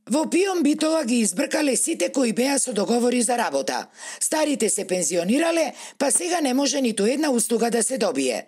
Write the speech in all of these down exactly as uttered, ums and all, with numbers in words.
Во ПИОМ Битола ги избркале сите кои беа со договори за работа. Старите се пензионирале, па сега не може ниту една услуга да се добие.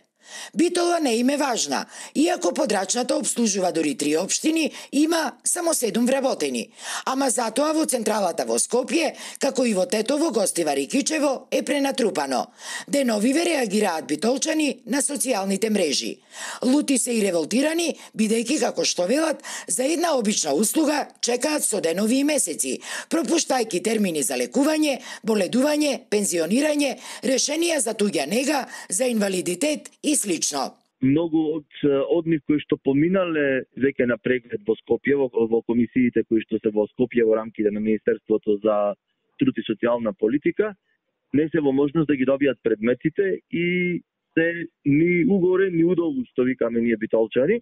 Битола не им е важна, иако подрачната обслужува дури три општини, има само седум вработени. Ама затоа во централата во Скопје, како и во Тетово, Гостивар и Кичево, е пренатрупано. Деновиве реагираат битолчани на социјалните мрежи. Лути се и револтирани, бидејќи, како што велат, за една обична услуга чекаат со денови и месеци, пропуштајќи термини за лекување, боледување, пензионирање, решенија за туѓа нега, за инвалидитет и слично. Многу од од нив кои што поминале веќе на преглед во Скопје, во, во комисиите кои што се во Скопје во рамките на Министерството за труд и социјална политика, не се во можност да ги добијат предметите и се ни угоре, ни удолу, што викаме ние битолчани,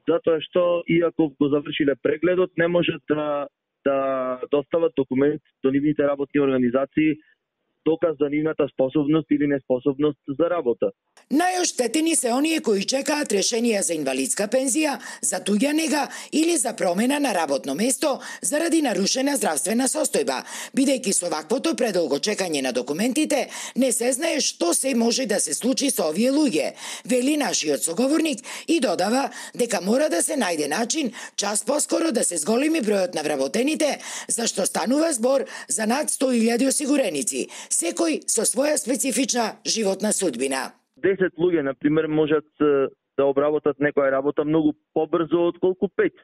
затоа што иако го завршиле прегледот, не можат да, да достават документ до нивните работни организации доказ за нивната способност или неспособност за работа. Најоштетени се оние кои чекаат решенија за инвалидска пензија, за туѓа нега или за промена на работно место заради нарушена здравствена состојба, бидејќи со ваквото предолго чекање на документите не се знае што се може да се случи со овие луѓе, вели нашиот соговорник и додава дека мора да се најде начин час поскоро да се зголеми бројот на вработените, зашто станува збор за над сто илјади осигуреници, секој со своја специфична животна судбина. десет луѓе, на пример, можат да обработат некоја работа многу побрзо отколку пет.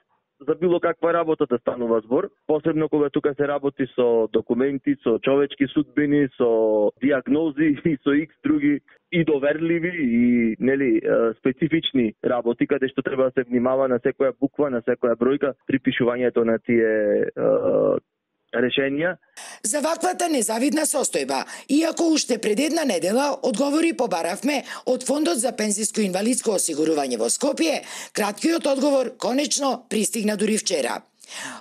За било каква работа да станува збор, посебно кога тука се работи со документи, со човечки судбини, со диагнози и со икс други и доверливи и нели специфични работи каде што треба да се внимава на секоја буква, на секоја бројка при пишувањето на тие решенија. За ваквата незавидна состојба, иако уште пред една недела одговори побаравме од Фондот за пензиско и инвалидско осигурување во Скопје, краткиот одговор конечно пристигна дури вчера.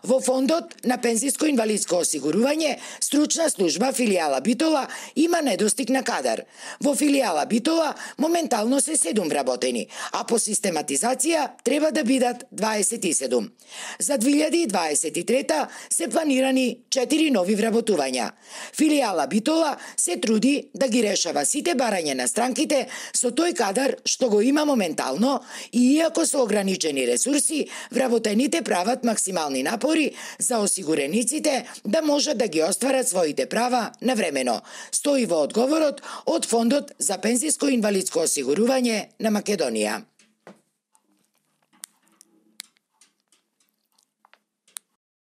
Во Фондот на пензиско и инвалидско осигурување, стручна служба филијала Битола има недостиг на кадар. Во филијала Битола моментално се седум вработени, а по систематизација треба да бидат дваесет и седум. За две илјади дваесет и трета се планирани четири нови вработувања. Филијала Битола се труди да ги решава сите барања на странките со тој кадар што го има моментално и иако со ограничени ресурси, вработените прават максимални напори за осигурениците да можат да ги остварат своите права навремено, стои во одговорот од Фондот за пензиско и инвалидско осигурување на Македонија.